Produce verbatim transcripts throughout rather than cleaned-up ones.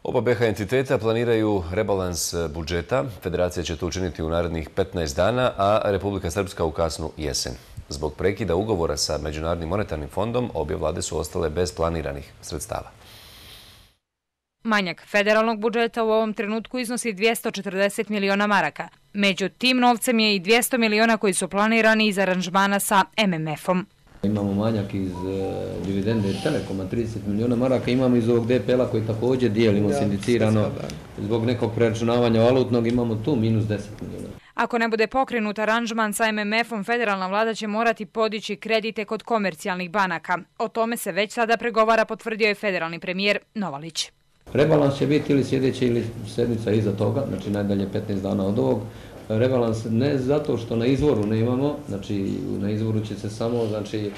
Oba B H entiteta planiraju rebalans budžeta. Federacija će to učiniti u narednih petnaest dana, a Republika Srpska u kasnu jesen. Zbog prekida ugovora sa Međunarodnim monetarnim fondom, obje vlade su ostale bez planiranih sredstava. Manjak federalnog budžeta u ovom trenutku iznosi dvjesto četrdeset miliona maraka. Među tim novcem je i dvjesto miliona koji su planirani iz aranžmana sa M M F-om. Imamo manjak iz dividende Telekoma, trideset miliona maraka, imamo iz ovog D P L-a koji također dijelimo sindicirano. Zbog nekog preračunavanja valutnog imamo tu minus deset miliona. Ako ne bude pokrenut aranžman sa M M F-om, federalna vlada će morati podići kredite kod komercijalnih banaka. O tome se već sada pregovara, potvrdio je federalni premijer Novalić. Rebalans će biti ili sljedeća ili sedmica iza toga, znači najdalje petnaest dana od ovog. Rebalans ne zato što na izvoru ne imamo, znači na izvoru će se samo, znači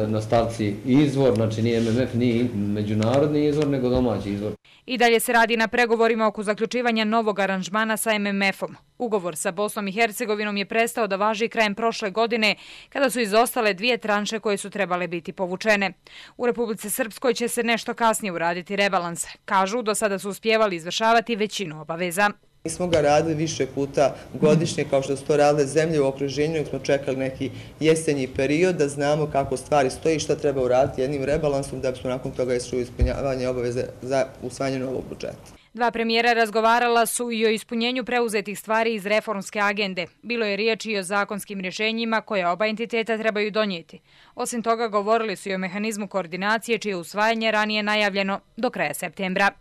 na stavci izvor, znači nije M M F, nije međunarodni izvor, nego domaći izvor. I dalje se radi na pregovorima oko zaključivanja novog aranžmana sa M M F-om. Ugovor sa Bosnom i Hercegovinom je prestao da važi krajem prošle godine, kada su izostale dvije tranše koje su trebale biti povučene. U Republici Srpskoj će se nešto kasnije uraditi rebalans. Kažu, do sada su uspjevali izvršavati većinu obaveza. Mi smo ga radili više puta godišnje, kao što su to radile zemlje u okruženju, jer smo čekali neki jesenji period da znamo kako stvari stoji i šta treba uraditi jednim rebalansom da bismo nakon toga išli u ispunjavanje obaveze za usvajanje novog budžeta. Dva premijera razgovarala su i o ispunjenju preuzetih stvari iz reformske agende. Bilo je riječ i o zakonskim rješenjima koje oba entiteta trebaju donijeti. Osim toga, govorili su i o mehanizmu koordinacije čije usvajanje ranije najavljeno do kraja septembra.